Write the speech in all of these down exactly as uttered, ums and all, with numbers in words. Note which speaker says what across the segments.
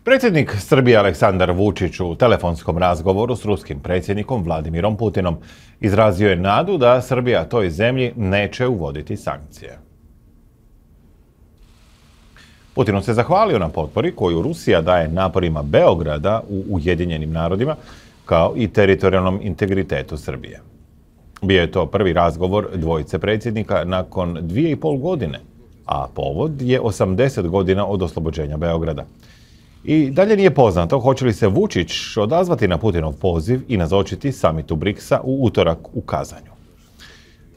Speaker 1: Predsjednik Srbije Aleksandar Vučić u telefonskom razgovoru s ruskim predsjednikom Vladimirom Putinom izrazio je nadu da Srbija toj zemlji neće uvoditi sankcije. Putinu se zahvalio na potpori koju Rusija daje naporima Beograda u Ujedinjenim narodima, kao i teritorijalnom integritetu Srbije. Bio je to prvi razgovor dvojice predsjednika nakon dvije i pol godine, a povod je osamdeset godina od oslobođenja Beograda. I dalje nije poznato hoće li se Vučić odazvati na Putinov poziv i nazočiti samitu briksa u utorak u Kazanju.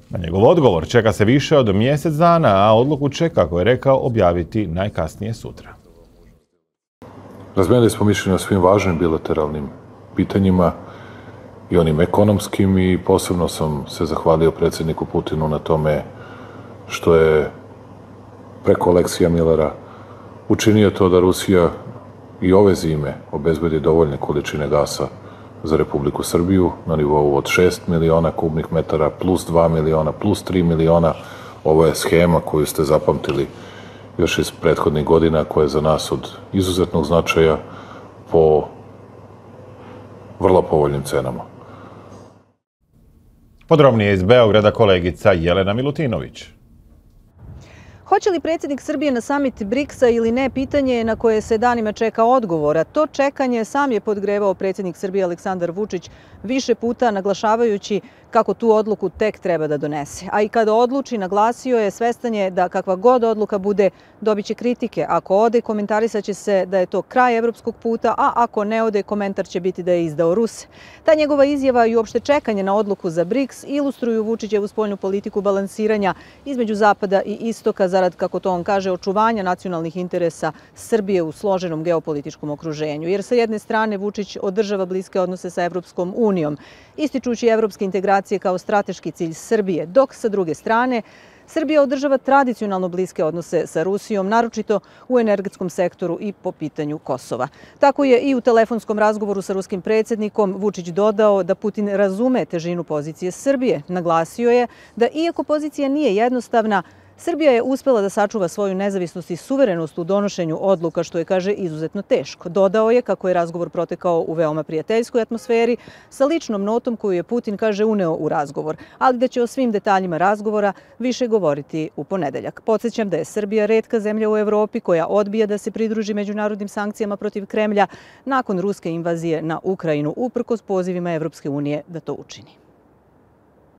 Speaker 1: Na njegov odgovor čeka se više od mjesec dana, a odluku će, kako je rekao, objaviti najkasnije sutra.
Speaker 2: Razmijenili smo mišljenje o svim važnim bilateralnim pitanjima i onim ekonomskim, i posebno sam se zahvalio predsjedniku Putinu na tome što je preko Aleksija Millera učinio to da Rusija i ove zime obezbedi dovoljne količine gasa za Republiku Srbiju na nivou od šest miliona kubnih metara plus dva miliona plus tri miliona. Ovo je schema koju ste zapamtili još iz prethodnih godina, koja je za nas od izuzetnog značaja po vrlo povoljnim cenama.
Speaker 1: Podrobnije iz Beograda kolegica Jelena Milutinović.
Speaker 3: Hoće li predsjednik Srbije na samit briksa ili ne, pitanje je na koje se danima čeka odgovor, a to čekanje sam je podgrevao predsjednik Srbije Aleksandar Vučić više puta, naglašavajući kako tu odluku tek treba da donese. A i kada odluči, naglasio je, svestan je da kakva god odluka bude, dobit će kritike. Ako ode, komentarisat će se da je to kraj evropskog puta, a ako ne ode, komentar će biti da je izdao Ruse. Ta njegova izjava i uopšte čekanje na odluku za briks ilustruju Vučićevu spoljnu politiku balansiranja između Zapada i Istoka zarad, kako to on kaže, očuvanja nacionalnih interesa Srbije u složenom geopolitičkom okruženju. Jer sa jedne strane Vučić održava bliske odnose sa Evropskom unijom, ističući evropske integracije kao strateški cilj Srbije, dok sa druge strane Srbija održava tradicionalno bliske odnose sa Rusijom, naročito u energetskom sektoru i po pitanju Kosova. Tako je i u telefonskom razgovoru sa ruskim predsjednikom Vučić dodao da Putin razume težinu pozicije Srbije. Naglasio je da iako pozicija nije jednostavna, Srbija je uspela da sačuva svoju nezavisnost i suverenost u donošenju odluka, što je, kaže, izuzetno teško. Dodao je kako je razgovor protekao u veoma prijateljskoj atmosferi sa ličnom notom koju je Putin, kaže, uneo u razgovor, ali da će o svim detaljima razgovora više govoriti u ponedeljak. Podsjećam da je Srbija retka zemlja u Evropi koja odbija da se pridruži međunarodnim sankcijama protiv Kremlja nakon ruske invazije na Ukrajinu, uprkos pozivima Evropske unije da to učini.